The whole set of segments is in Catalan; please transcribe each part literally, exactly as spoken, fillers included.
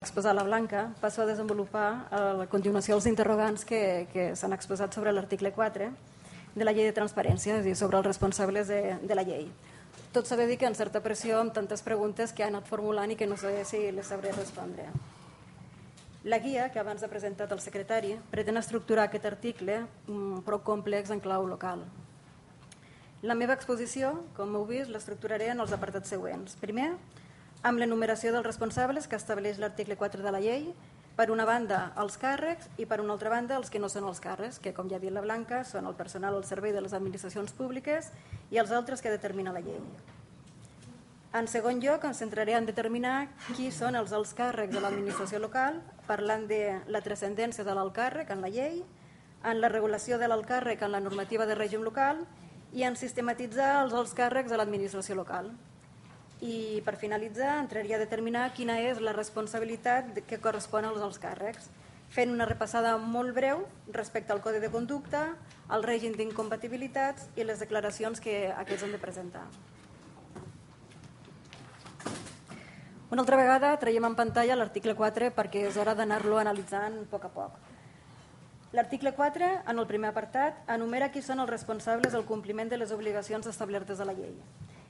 exposar la Blanca, passo a desenvolupar a la continuació els interrogants que, que s'han exposat sobre l'article quatre de la llei de transparència, és a dir, sobre els responsables de, de la llei. Tot s'ha de dir que en certa pressió amb tantes preguntes que ha anat formulant i que no sé si les sabré respondre. La guia que abans ha presentat el secretari pretén estructurar aquest article prou complex en clau local. La meva exposició, com heu vist, l'estructuraré en els apartats següents. Primer, amb l'enumeració dels responsables que estableix l'article quatre de la llei, per una banda els càrrecs i per una altra banda els que no són els càrrecs, que com ja ha dit la Blanca són el personal al servei de les administracions públiques i els altres que determina la llei. En segon lloc, em centraré en determinar qui són els alts càrrecs de l'administració local, parlant de la transcendència de l'alt càrrec en la llei, en la regulació de l'alt càrrec en la normativa de règim local i en sistematitzar els alts càrrecs de l'administració local. I per finalitzar entraria a determinar quina és la responsabilitat que correspon als alts càrrecs, fent una repassada molt breu respecte al codi de conducta, al règim d'incompatibilitats i les declaracions que aquests han de presentar. Una altra vegada traiem en pantalla l'article quatre perquè és hora d'anar-lo analitzant a poc a poc. L'article quatre, en el primer apartat, enumera qui són els responsables del compliment de les obligacions establertes a la llei.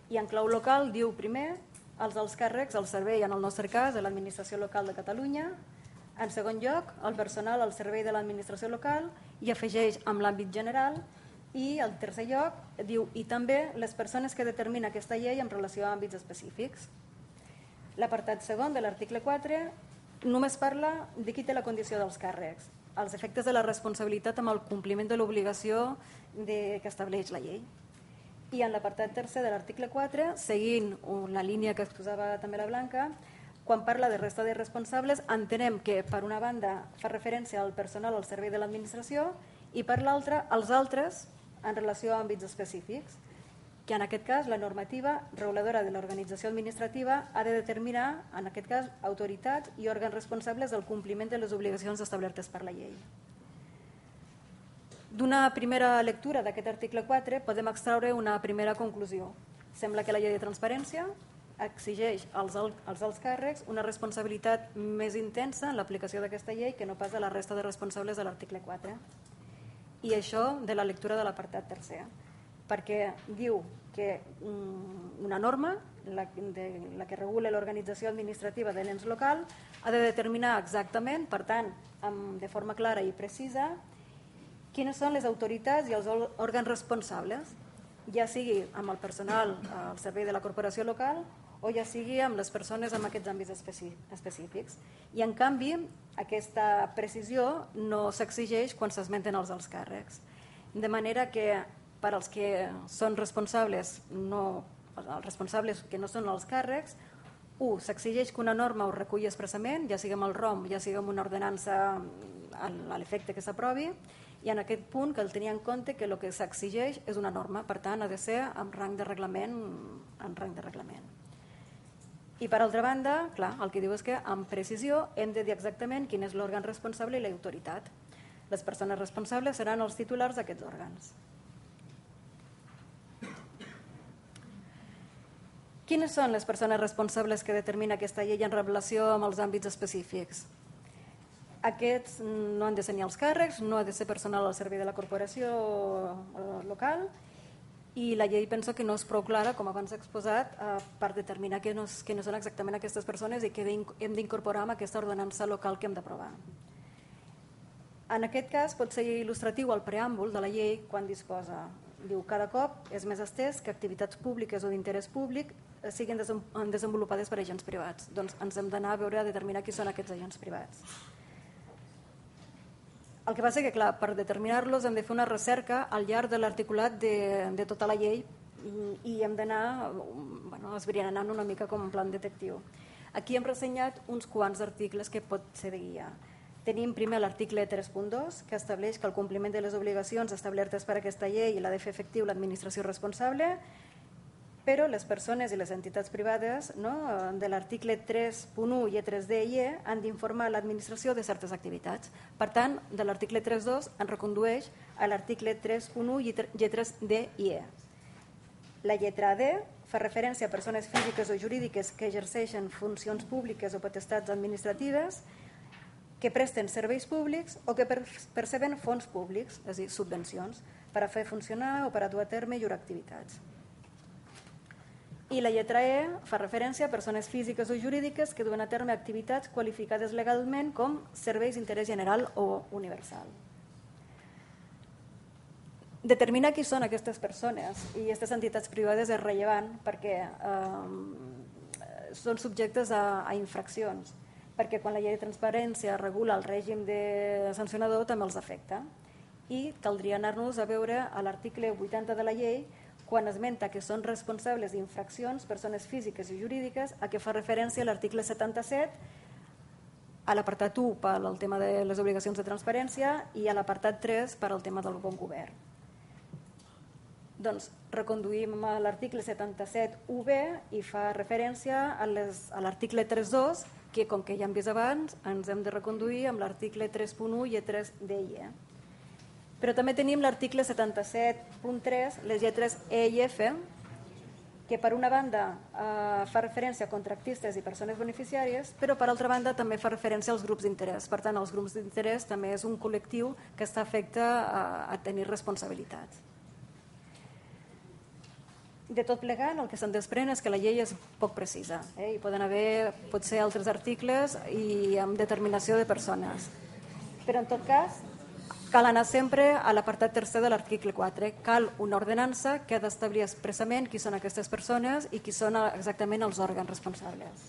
I en clau local diu primer els alts càrrecs al servei, en el nostre cas, de l'administració local de Catalunya, en segon lloc el personal al servei de l'administració local i afegeix amb l'àmbit general i en tercer lloc diu i també les persones que determina aquesta llei en relació a àmbits específics. L'apartat segon de l'article quatre només parla de qui té la condició dels càrrecs, els efectes de la responsabilitat amb el compliment de l'obligació que estableix la llei. I en l'apartat tercer de l'article quatre, seguint la línia que exposava també la Blanca, quan parla de resta de responsables, entenem que per una banda fa referència al personal al servei de l'administració i per l'altra als altres en relació a àmbits específics, que en aquest cas la normativa reguladora de l'organització administrativa ha de determinar, en aquest cas, autoritats i òrgans responsables del compliment de les obligacions establertes per la llei. D'una primera lectura d'aquest article quatre podem extraure una primera conclusió. Sembla que la llei de transparència exigeix als alts càrrecs una responsabilitat més intensa en l'aplicació d'aquesta llei que no pas de la resta de responsables de l'article quatre. I això de la lectura de l'apartat tercer, perquè diu que una norma, la que regula l'organització administrativa de l'ens local, ha de determinar exactament, per tant, de forma clara i precisa, quines són les autoritats i els òrgans responsables, ja sigui amb el personal al servei de la corporació local o ja sigui amb les persones amb aquests àmbits específics. I en canvi, aquesta precisió no s'exigeix quan s'esmenten els alts càrrecs. De manera que per als que són responsables, no, els responsables que no són els càrrecs, u, s'exigeix que una norma ho reculli expressament, ja sigui amb el ROM, ja sigui amb una ordenança a l'efecte que s'aprovi, i en aquest punt cal tenir en compte que el que s'exigeix és una norma, per tant ha de ser en rang de reglament. En rang de reglament. I per altra banda, clar, el que diu és que amb precisió hem de dir exactament quin és l'òrgan responsable i l'autoritat. Les persones responsables seran els titulars d'aquests òrgans. Quines són les persones responsables que determina aquesta llei en relació amb els àmbits específics? Aquests no han de ser ni els càrrecs, no ha de ser personal al servei de la corporació local i la llei penso que no és prou clara, com abans he exposat, per determinar que no són exactament aquestes persones i que hem d'incorporar amb aquesta ordenança local que hem d'aprovar. En aquest cas pot ser il·lustratiu el preàmbul de la llei quan disposa. Diu, cada cop és més estès que activitats públiques o d'interès públic siguin desenvolupades per agents privats. Doncs ens hem d'anar a veure a determinar qui són aquests agents privats. El que passa és que, clar, per determinar-los hem de fer una recerca al llarg de l'articulat de, de tota la llei i hem d'anar bueno, esbrianant una mica com un plan detectiu. Aquí hem ressenyat uns quants articles que pot ser de guia. Tenim primer l'article tres punt dos, que estableix que el compliment de les obligacions establertes per aquesta llei l'ha de fer efectiu l'administració responsable, però les persones i les entitats privades, no, de l'article tres punt u, lletres D i E, han d'informar l'administració de certes activitats. Per tant, de l'article tres punt dos en recondueix a l'article tres punt u, lletres D i E. La lletra D fa referència a persones físiques o jurídiques que exerceixen funcions públiques o potestats administratives, que presten serveis públics o que perceben fons públics, és a dir, subvencions, per a fer funcionar o per a dur a terme llurs activitats. I la lletra E fa referència a persones físiques o jurídiques que duen a terme activitats qualificades legalment com serveis d'interès general o universal. Determinar qui són aquestes persones i aquestes entitats privades és rellevant perquè eh, són subjectes a, a infraccions, perquè quan la llei de transparència regula el règim de sancionador també els afecta. I caldria anar-nos a veure a l'article vuitanta de la llei quan esmenta que són responsables d'infraccions persones físiques i jurídiques, a què fa referència a l'article setanta-set, a l'apartat u per al tema de les obligacions de transparència i a l'apartat tres per al tema del bon govern. Doncs reconduïm a l'article setanta-set u be i fa referència a l'article tres punt dos, que com que ja hem vist abans ens hem de reconduir amb l'article tres punt u i tres d'E. Però també tenim l'article setanta-set punt tres, les lletres E i F, que per una banda eh, fa referència a contractistes i persones beneficiàries, però per altra banda també fa referència als grups d'interès. Per tant, els grups d'interès també és un col·lectiu que està afecte a, a tenir responsabilitats. De tot plegat, el que se'n desprèn és que la llei és poc precisa. Eh? Hi poden haver potser altres articles i amb determinació de persones. Però en tot cas, cal anar sempre a l'apartat tercer de l'article quatre. Cal una ordenança que ha d'establir expressament qui són aquestes persones i qui són exactament els òrgans responsables.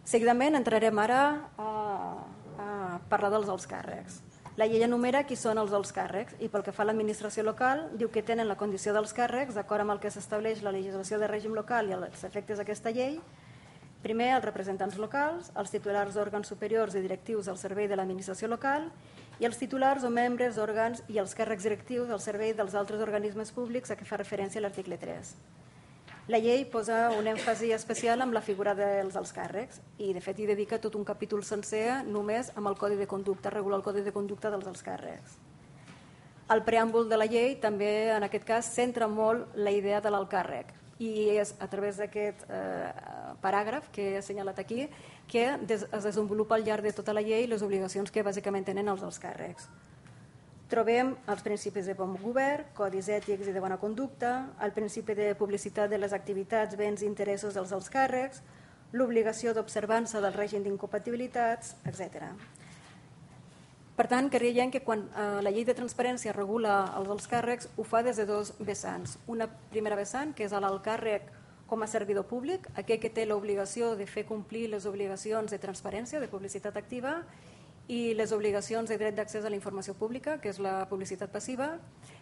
Seguidament entrarem ara a, a parlar dels alts càrrecs. La llei enumera qui són els alts càrrecs i pel que fa a l'administració local diu que tenen la condició dels càrrecs d'acord amb el que s'estableix la legislació de règim local i els efectes d'aquesta llei. Primer, els representants locals, els titulars d'òrgans superiors i directius al servei de l'administració local i els titulars o membres, òrgans i els càrrecs directius al servei dels altres organismes públics a què fa referència l'article tres. La llei posa un èmfasi especial amb la figura dels alts càrrecs i, de fet, hi dedica tot un capítol sencer només amb el codi de conducta, regular el codi de conducta dels alts càrrecs. El preàmbul de la llei també, en aquest cas, centra molt la idea de l'alt càrrec i és a través d'aquest eh, paràgraf que he assenyalat aquí que des, es desenvolupa al llarg de tota la llei les obligacions que bàsicament tenen els alts càrrecs. Trobem els principis de bon govern, codis ètics i de bona conducta, el principi de publicitat de les activitats, béns i interessos dels alts càrrecs, l'obligació d'observança del règim d'incompatibilitats, etcètera. Per tant, creiem que quan eh, la llei de transparència regula els alts càrrecs ho fa des de dos vessants. Una primera vessant, que és l'alt càrrec com a servidor públic, aquell que té l'obligació de fer complir les obligacions de transparència, de publicitat activa, i les obligacions de dret d'accés a la informació pública, que és la publicitat passiva,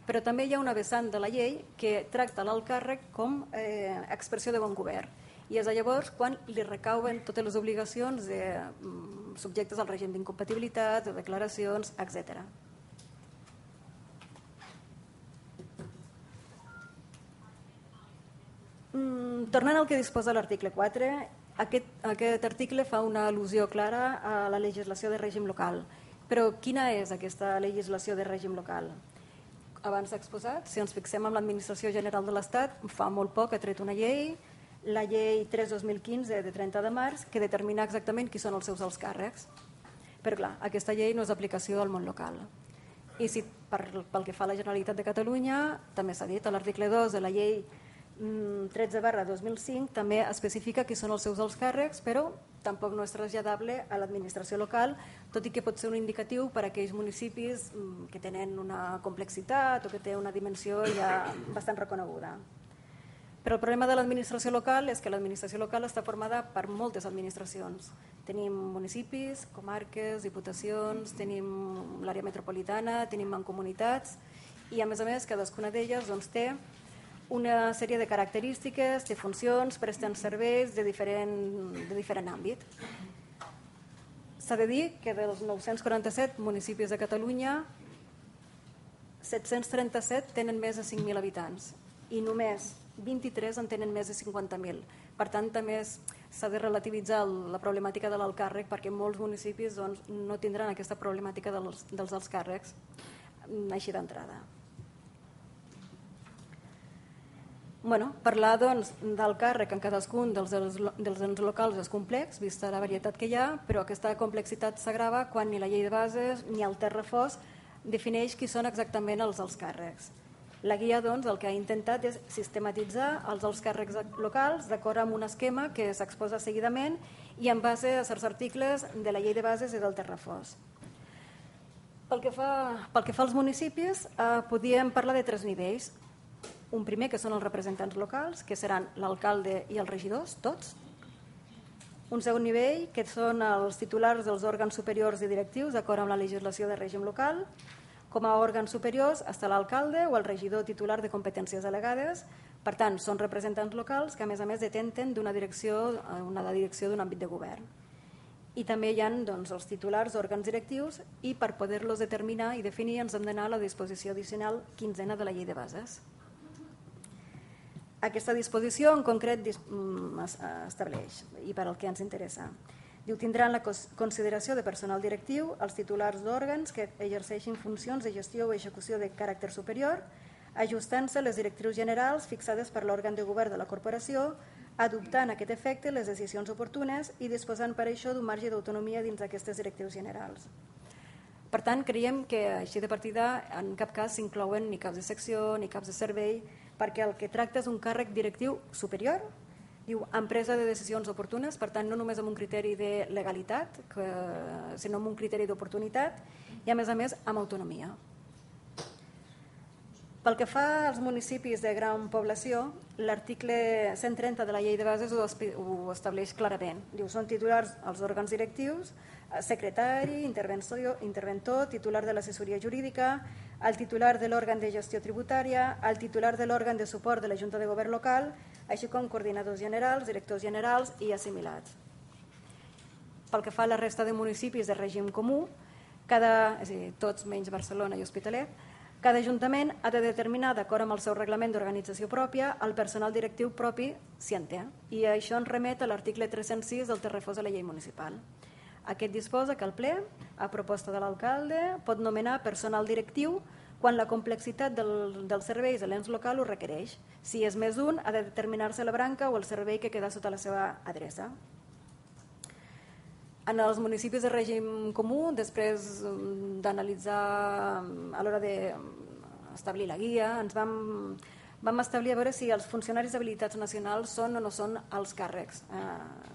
però també hi ha una vessant de la llei que tracta l'alt càrrec com eh, expressió de bon govern. I és llavors quan li recauen totes les obligacions de, mm, subjectes al règim d'incompatibilitat, de declaracions, etcètera. Mm, tornant al que disposa l'article quatre, Aquest, aquest article fa una al·lusió clara a la legislació de règim local. Però quina és aquesta legislació de règim local? Abans s'ha exposat, si ens fixem en l'Administració General de l'Estat, fa molt poc ha tret una llei, la llei tres dos mil quinze de trenta de març, que determina exactament qui són els seus alts càrrecs. Però clar, aquesta llei no és d'aplicació al món local. I si per, pel que fa a la Generalitat de Catalunya, també s'ha dit, a l'article dos de la llei tretze barra dos mil cinc també especifica qui són els seus alts càrrecs, però tampoc no és traslladable a l'administració local, tot i que pot ser un indicatiu per a aquells municipis que tenen una complexitat o que té una dimensió ja bastant reconeguda. Però el problema de l'administració local és que l'administració local està formada per moltes administracions. Tenim municipis, comarques, diputacions, tenim l'àrea metropolitana, tenim mancomunitats i a més a més cadascuna d'elles doncs, té una sèrie de característiques, de funcions, presten serveis de diferent, de diferent àmbit. S'ha de dir que dels nou-cents quaranta-set municipis de Catalunya, set-cents trenta-set tenen més de cinc mil habitants i només vint-i-tres en tenen més de cinquanta mil. Per tant, també s'ha de relativitzar la problemàtica de l'alt càrrec perquè molts municipis doncs, no tindran aquesta problemàtica dels, dels alts càrrecs així d'entrada. Bueno, parlar doncs, del càrrec en cadascun dels, dels ens locals és complex, vista la varietat que hi ha, però aquesta complexitat s'agrava quan ni la llei de bases ni el terrafós defineix qui són exactament els alts càrrecs. La guia doncs, el que ha intentat és sistematitzar els alts càrrecs locals d'acord amb un esquema que s'exposa seguidament i en base a certs articles de la llei de bases i del terrafós. Pel que fa, pel que fa als municipis, eh, podíem parlar de tres nivells. Un primer, que són els representants locals, que seran l'alcalde i els regidors, tots. Un segon nivell, que són els titulars dels òrgans superiors i directius, d'acord amb la legislació de règim local. Com a òrgans superiors està l'alcalde o el regidor titular de competències delegades. Per tant, són representants locals que, a més a més, detenten d'una direcció, una direcció d'un àmbit de govern. I també hi ha doncs, els titulars d'òrgans directius i per poder-los determinar i definir ens hem d'anar a la disposició addicional quinzena de la llei de bases. Aquesta disposició en concret estableix, i per al que ens interessa, diu, tindran la consideració de personal directiu els titulars d'òrgans que exerceixin funcions de gestió o execució de caràcter superior, ajustant-se les directrius generals fixades per l'òrgan de govern de la corporació, adoptant a aquest efecte les decisions oportunes i disposant per això d'un marge d'autonomia dins d'aquestes directrius generals. Per tant, creiem que així de partida en cap cas s'inclouen ni caps de secció ni caps de servei, perquè el que tracta és un càrrec directiu superior, diu empresa de decisions oportunes, per tant no només amb un criteri de legalitat, que, sinó amb un criteri d'oportunitat i a més a més amb autonomia. Pel que fa als municipis de gran població, l'article cent trenta de la llei de bases ho estableix clarament. Diu, són titulars els òrgans directius, secretari, interventor, titular de l'assessoria jurídica, el titular de l'òrgan de gestió tributària, el titular de l'òrgan de suport de la Junta de Govern local, així com coordinadors generals, directors generals i assimilats. Pel que fa a la resta de municipis de règim comú, cada, és a dir, tots menys Barcelona i Hospitalet, cada ajuntament ha de determinar, d'acord amb el seu reglament d'organització pròpia, el personal directiu propi si en té. I això ens remet a l'article tres-cents sis del terrafós de la llei municipal. Aquest disposa que el ple, a proposta de l'alcalde, pot nomenar personal directiu quan la complexitat del, dels serveis de l'ens local ho requereix. Si és més d'un, ha de determinar-se la branca o el servei que queda sota la seva adreça. En els municipis de règim comú, després d'analitzar a l'hora d'establir la guia, ens vam, vam establir a veure si els funcionaris d'habilitats nacionals són o no són els càrrecs. Eh,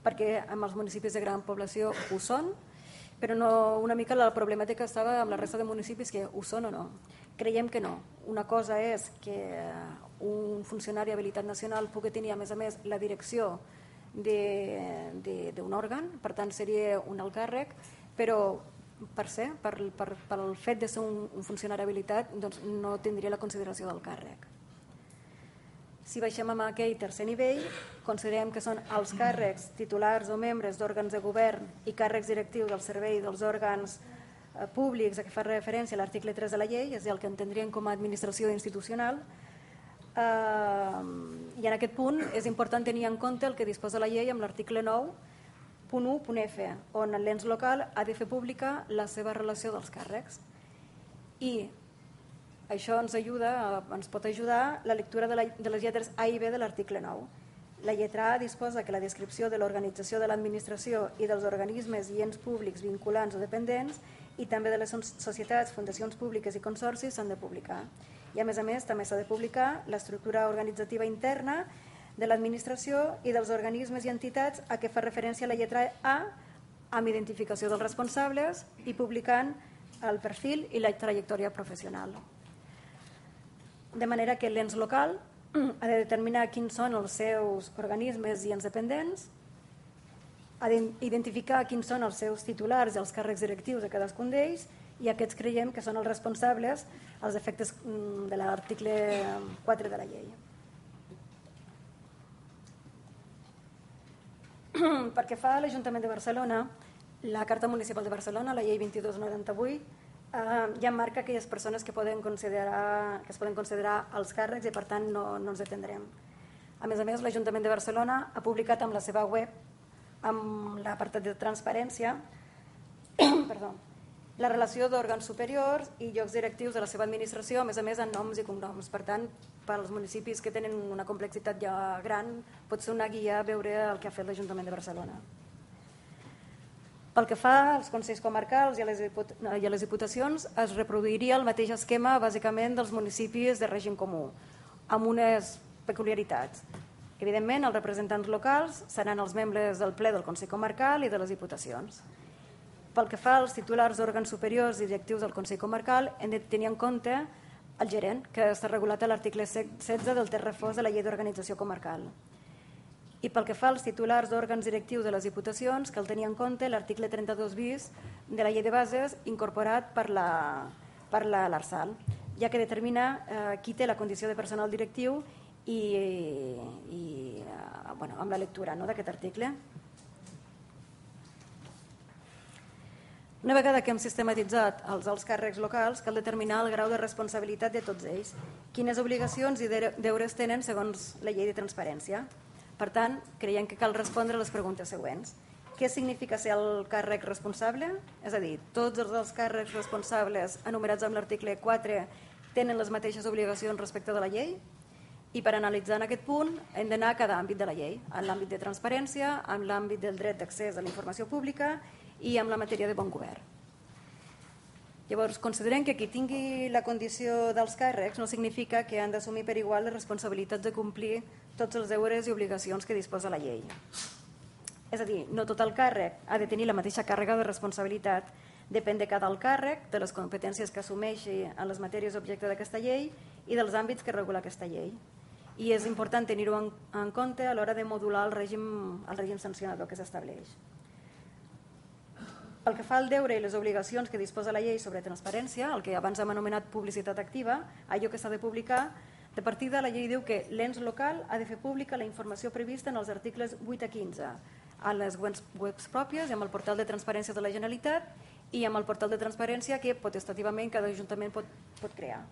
perquè en els municipis de gran població ho són, però no, una mica la problemàtica estava amb la resta de municipis que ho són o no. Creiem que no. Una cosa és que un funcionari d'habilitat nacional pugui tenir, a més a més, la direcció d'un òrgan, per tant seria un alt càrrec, però per ser, per, per, pel fet de ser un, un funcionari habilitat, doncs no tindria la consideració del càrrec. Si baixem a aquell tercer nivell, considerem que són els càrrecs titulars o membres d'òrgans de govern i càrrecs directius del servei dels òrgans eh, públics a què fa referència a l'article tres de la llei, és a dir, el que entendríem com a administració institucional. Uh, i en aquest punt és important tenir en compte el que disposa la llei amb l'article nou punt u punt F, on l'ens local ha de fer pública la seva relació dels càrrecs. I això ens ajuda, ens pot ajudar la lectura de, la, de les lletres A i B de l'article nou. La lletra A disposa que la descripció de l'organització de l'administració i dels organismes i ens públics vinculants o dependents i també de les societats, fundacions públiques i consorcis s'han de publicar. I a més a més també s'ha de publicar l'estructura organitzativa interna de l'administració i dels organismes i entitats a què fa referència la lletra A amb identificació dels responsables i publicant el perfil i la trajectòria professional. De manera que l'ens local ha de determinar quins són els seus organismes i ens dependents, ha d'identificar quins són els seus titulars i els càrrecs directius de cadascun d'ells i aquests creiem que són els responsables als efectes de l'article quatre de la llei. Perquè fa a l'Ajuntament de Barcelona, la Carta Municipal de Barcelona, la llei vint-i-dos noranta-vuit, eh, ja marca aquelles persones que, poden considerar, que es poden considerar els càrrecs i per tant no, no ens detendrem. A més a més, l'Ajuntament de Barcelona ha publicat amb la seva web, amb l'apartat de transparència, perdó, la relació d'òrgans superiors i llocs directius de la seva administració, a més a més en noms i cognoms. Per tant, per als municipis que tenen una complexitat ja gran, pot ser una guia veure el que ha fet l'Ajuntament de Barcelona. Pel que fa als consells comarcals i a les diputacions, es reproduiria el mateix esquema bàsicament dels municipis de règim comú, amb unes peculiaritats. Evidentment, els representants locals seran els membres del ple del Consell Comarcal i de les diputacions. Pel que fa als titulars d'òrgans superiors i directius del Consell Comarcal, hem de tenir en compte el gerent, que està regulat a l'article setze del text refós de la Llei d'Organització Comarcal. I pel que fa als titulars d'òrgans directius de les diputacions, cal tenir en compte l'article trenta-dos bis de la Llei de Bases incorporat per l'Arsal, ja que determina eh, qui té la condició de personal directiu i, i eh, bueno, amb la lectura no, d'aquest article. Una vegada que hem sistematitzat els alts càrrecs locals, cal determinar el grau de responsabilitat de tots ells, quines obligacions i deures tenen segons la llei de transparència. Per tant, creiem que cal respondre a les preguntes següents. Què significa ser el càrrec responsable? És a dir, tots els alts càrrecs responsables enumerats en l'article quatre tenen les mateixes obligacions respecte de la llei? I per analitzar en aquest punt hem d'anar a cada àmbit de la llei, en l'àmbit de transparència, en l'àmbit del dret d'accés a la informació pública i amb la matèria de bon govern. Llavors, considerem que qui tingui la condició dels càrrecs no significa que han d'assumir per igual les responsabilitats de complir tots els deures i obligacions que disposa la llei. És a dir, no tot el càrrec ha de tenir la mateixa càrrega de responsabilitat, depèn de cada alt càrrec, de les competències que assumeixi en les matèries objecte d'aquesta llei i dels àmbits que regula aquesta llei. I és important tenir-ho en, en compte a l'hora de modular el règim, el règim sancionador que s'estableix. Pel que fa al deure i les obligacions que disposa la llei sobre transparència, el que abans hem anomenat publicitat activa, allò que s'ha de publicar, de partida la llei diu que l'ens local ha de fer pública la informació prevista en els articles vuit a quinze, a les webs, webs pròpies i amb el portal de transparència de la Generalitat i amb el portal de transparència que potestativament cada ajuntament pot, pot crear.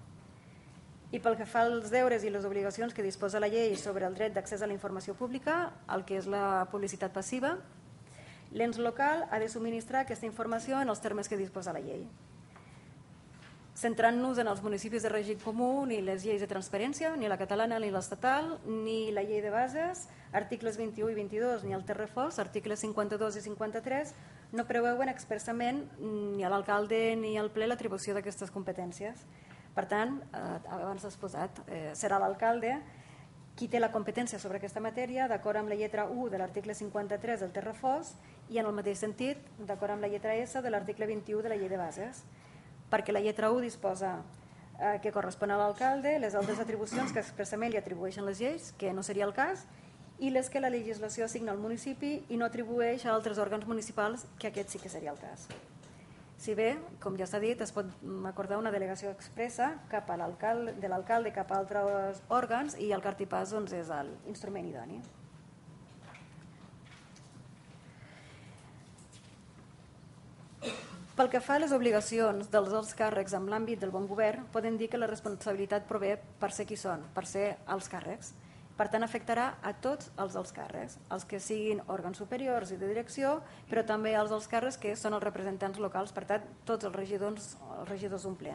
I pel que fa als deures i les obligacions que disposa la llei sobre el dret d'accés a la informació pública, el que és la publicitat passiva, l'ens local ha de subministrar aquesta informació en els termes que disposa la llei. Centrant-nos en els municipis de règim comú, ni les lleis de transparència, ni la catalana ni l'estatal, ni la llei de bases, articles vint-i-u i vint-i-dos, ni el text refós, articles cinquanta-dos i cinquanta-tres, no preveuen expressament ni a l'alcalde ni al ple l'atribució d'aquestes competències. Per tant, eh, abans has posat, eh, serà l'alcalde qui té la competència sobre aquesta matèria d'acord amb la lletra u de l'article cinquanta-tres del text refós i en el mateix sentit d'acord amb la lletra S de l'article vint-i-u de la llei de bases, perquè la lletra u disposa eh, que correspon a l'alcalde les altres atribucions que expressament li atribueixen les lleis, que no seria el cas, i les que la legislació assigna al municipi i no atribueix a altres òrgans municipals, que aquest sí que seria el cas. Si bé, com ja s'ha dit, es pot acordar una delegació expressa cap a l'alcalde, de l'alcalde cap a altres òrgans i el cartipàs doncs, és l'instrument idoni. Pel que fa a les obligacions dels alts càrrecs en l'àmbit del bon govern, podem dir que la responsabilitat prové per ser qui són, per ser alts càrrecs. Per tant, afectarà a tots els alts càrrecs, els que siguin òrgans superiors i de direcció, però també els alts càrrecs que són els representants locals, per tant, tots els regidors, els regidors d'un ple.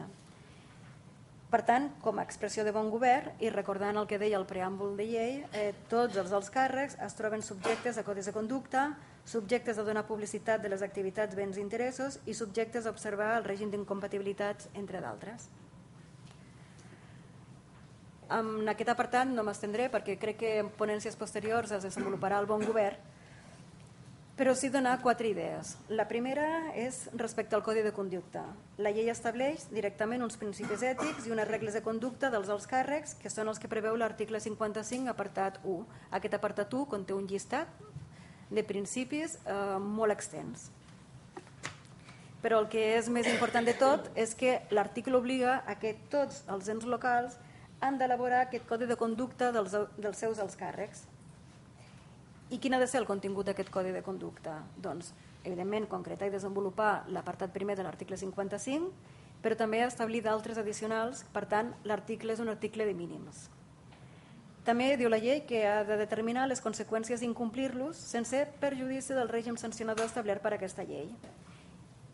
Per tant, com a expressió de bon govern, i recordant el que deia el preàmbul de llei, eh, tots els alts càrrecs es troben subjectes a codis de conducta, subjectes a donar publicitat de les activitats, béns i interessos i subjectes a observar el règim d'incompatibilitats, entre d'altres. En aquest apartat no m'estendré perquè crec que en ponències posteriors es desenvoluparà el bon govern, però sí donar quatre idees. La primera és respecte al codi de conducta. La llei estableix directament uns principis ètics i unes regles de conducta dels alts càrrecs que són els que preveu l'article cinquanta-cinc apartat u. Aquest apartat u conté un llistat de principis eh, molt extens. Però el que és més important de tot és que l'article obliga a que tots els ens locals han d'elaborar aquest codi de conducta dels, dels seus alts càrrecs. I quin ha de ser el contingut d'aquest codi de conducta? Doncs, evidentment, concretar i desenvolupar l'apartat primer de l'article cinquanta-cinc, però també establir d'altres addicionals, per tant, l'article és un article de mínims. També diu la llei que ha de determinar les conseqüències d'incomplir-los sense perjudici del règim sancionador establert per aquesta llei.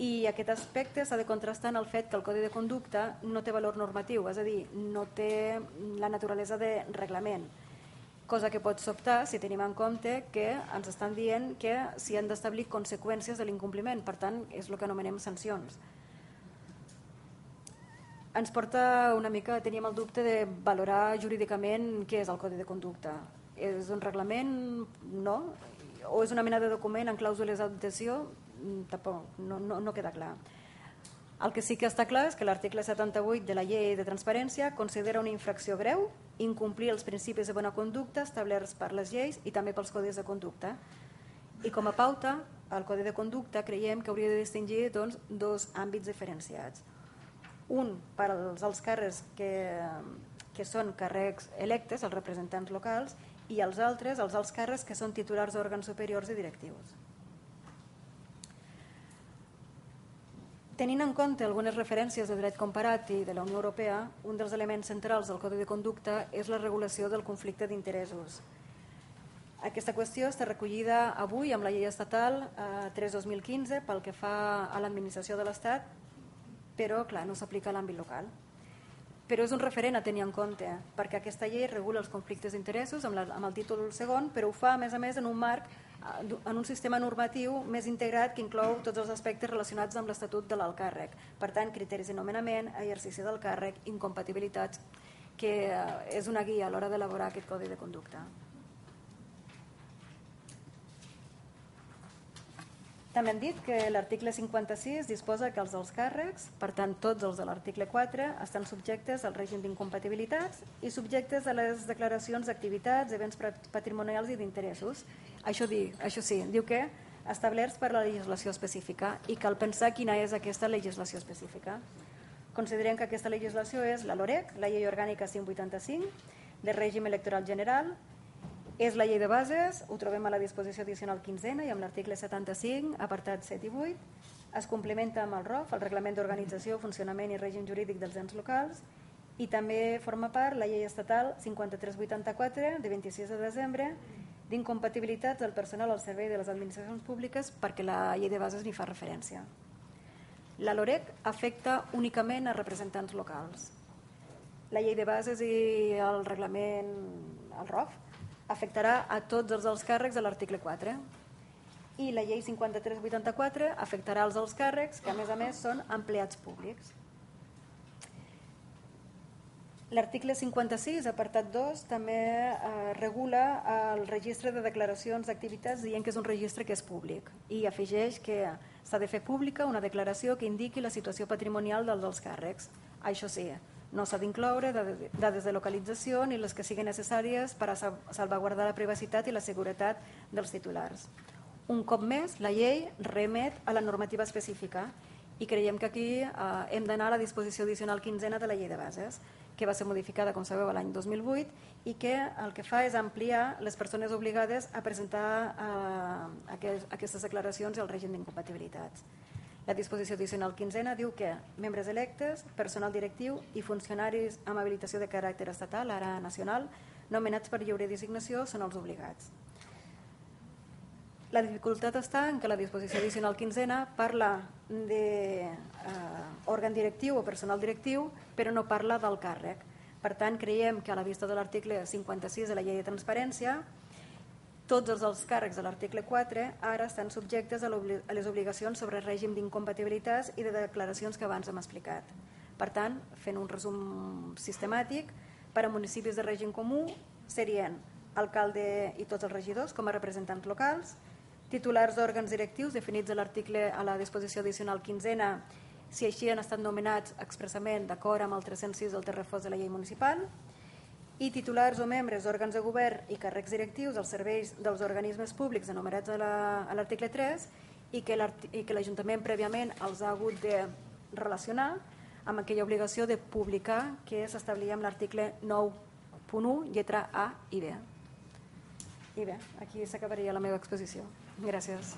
I aquest aspecte s'ha de contrastar en el fet que el Codi de Conducta no té valor normatiu, és a dir, no té la naturalesa de reglament, cosa que pot sobtar si tenim en compte que ens estan dient que s'hi han d'establir conseqüències de l'incompliment, per tant, és el que anomenem sancions. Ens porta una mica, teníem el dubte de valorar jurídicament què és el Codi de Conducta. És un reglament? No? O és una mena de document en clàusules d'adhesió? Tampoc, no, no, no queda clar. El que sí que està clar és que l'article setanta-vuit de la Llei de Transparència considera una infracció greu incomplir els principis de bona conducta establerts per les lleis i també pels codis de conducta. I com a pauta, el Codi de Conducta creiem que hauria de distingir doncs, dos àmbits diferenciats. Un per als alts càrrecs que, que són càrrecs electes, els representants locals, i els altres, els alts càrrecs que són titulars d'òrgans superiors i directius. Tenint en compte algunes referències de dret comparat i de la Unió Europea, un dels elements centrals del Codi de Conducta és la regulació del conflicte d'interessos. Aquesta qüestió està recollida avui amb la Llei Estatal tres dos mil quinze pel que fa a l'administració de l'Estat, però clar, no s'aplica a l'àmbit local. Però és un referent a tenir en compte, perquè aquesta llei regula els conflictes d'interessos amb, amb el títol segon, però ho fa a més a més en un marc, en un sistema normatiu més integrat que inclou tots els aspectes relacionats amb l'Estatut de l'alt càrrec. Per tant, criteris de nomenament, exercici del càrrec, incompatibilitats, que és una guia a l'hora d'elaborar aquest codi de conducta. També han dit que l'article cinquanta-sis disposa que els alts càrrecs, per tant tots els de l'article quatre, estan subjectes al règim d'incompatibilitats i subjectes a les declaracions d'activitats, events patrimonials i d'interessos. Això, això sí, diu que establerts per la legislació específica i cal pensar quina és aquesta legislació específica. Considerem que aquesta legislació és la LOREC, la Llei Orgànica cent vuitanta-cinc, de règim electoral general, és la llei de bases, ho trobem a la disposició addicional quinzena i amb l'article setanta-cinc, apartats set i vuit, es complementa amb el R O F, el Reglament d'Organització, Funcionament i Règim Jurídic dels Ens Locals, i també forma part la llei estatal cinquanta-tres vuitanta-quatre de vint-i-sis de desembre d'incompatibilitats del personal al servei de les administracions públiques perquè la llei de bases n'hi fa referència. La LOREC afecta únicament a representants locals. La llei de bases i el reglament, el R O F, afectarà a tots els alts càrrecs de l'article quatre i la llei cinquanta-tres vuitanta-quatre afectarà els alts càrrecs que a més a més són empleats públics. L'article cinquanta-sis, apartat dos, també eh, regula el registre de declaracions d'activitats dient que és un registre que és públic i afegeix que s'ha de fer pública una declaració que indiqui la situació patrimonial dels alts càrrecs. Això sí, no s'ha d'incloure dades de localització ni les que siguin necessàries per a salvaguardar la privacitat i la seguretat dels titulars. Un cop més, la llei remet a la normativa específica i creiem que aquí eh, hem d'anar a la disposició addicional quinzena de la llei de bases, que va ser modificada, com sabeu, l'any dos mil vuit i que el que fa és ampliar les persones obligades a presentar eh, aquest, aquestes declaracions i el règim d'incompatibilitats. La disposició addicional quinzena diu que membres electes, personal directiu i funcionaris amb habilitació de caràcter estatal, ara nacional, nomenats per lliure designació són els obligats. La dificultat està en que la disposició addicional quinzena parla d'òrgan directiu o personal directiu, però no parla del càrrec. Per tant, creiem que a la vista de l'article cinquanta-sis de la Llei de Transparència, tots els alts càrrecs de l'article quatre ara estan subjectes a les obligacions sobre règim d'incompatibilitats i de declaracions que abans hem explicat. Per tant, fent un resum sistemàtic, per a municipis de règim comú serien alcalde i tots els regidors com a representants locals, titulars d'òrgans directius definits a l'article a la disposició addicional quinzena si així han estat nomenats expressament d'acord amb el tres-cents sis del terrefós de la llei municipal, i titulars o membres d'òrgans de govern i càrrecs directius als serveis dels organismes públics enumerats a l'article tres i que l'Ajuntament prèviament els ha hagut de relacionar amb aquella obligació de publicar que s'establia en l'article nou punt u, lletra A i B. I bé, aquí s'acabaria la meva exposició. Gràcies.